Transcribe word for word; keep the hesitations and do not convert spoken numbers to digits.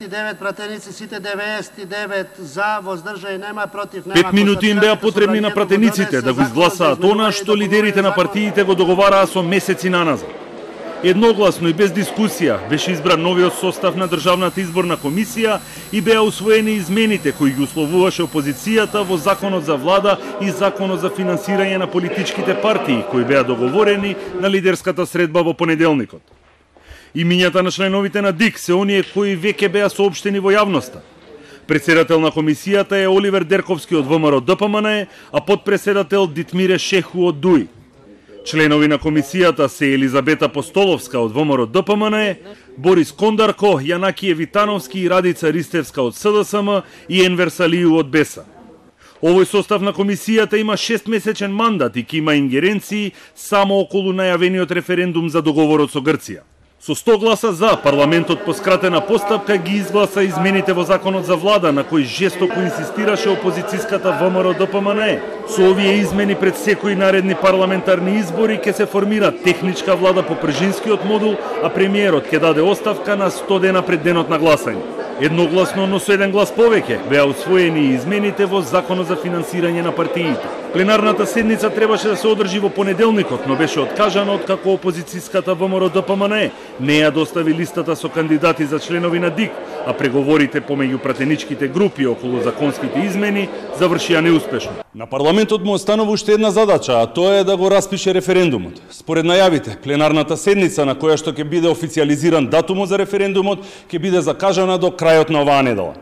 девет пратеници, сите деветдесет и девет за, воздржани нема, против нема. Пет минути им беа потребни на пратениците да го изгласаат она што лидерите на партиите го договараа со месеци наназад. Едногласно и без дискусија беше избран новиот состав на Државната изборна комисија и беа усвоени измените кои ги условуваше опозицијата во Законот за влада и Законот за финансирање на политичките партии, кои беа договорени на лидерската средба во понеделникот. Имињата на членовите на ДИК се оние кои веќе беа соопштени во јавноста. Председател на комисијата е Оливер Дерковски од ВМРО Д П М Н Е, а подпредседател Дитмире Шеху од Д У И. Членови на комисијата се Елизабета Постоловска од ВМРО Д П М Н Е, Борис Кондарко, Јанакије Витановски и Радица Ристевска од С Д С М и Енвер Салију од Б Е С А. Овој состав на комисијата има шестмесечен мандат и ќе има ингеренции само околу најавениот референдум за договорот со Грција. Со сто гласа за, парламентот по скратена постапка ги изгласа измените во Законот за влада, на кој жестоко инсистираше опозицијската В М Р Д П М Н Е. Со овие измени пред секои наредни парламентарни избори ќе се формира техничка влада по пржинскиот модул, а премиерот ќе даде оставка на сто дена пред денот на гласање. Едногласно, но со еден глас повеќе, беа усвоени измените во Законот за финансирање на партиите. Пленарната седница требаше да се одржи во понеделникот, но беше откажана откако опозицијската В М Р Д П М Н Е не ја достави листата со кандидати за членови на ДИК, а преговорите помеѓу пратеничките групи околу законските измени завршија неуспешно. На парламентот му останува уште една задача, а тоа е да го распише референдумот. Според најавите, пленарната седница на која што ќе биде официјализиран датумот за референдумот ќе биде закажана до крајот на оваа недела.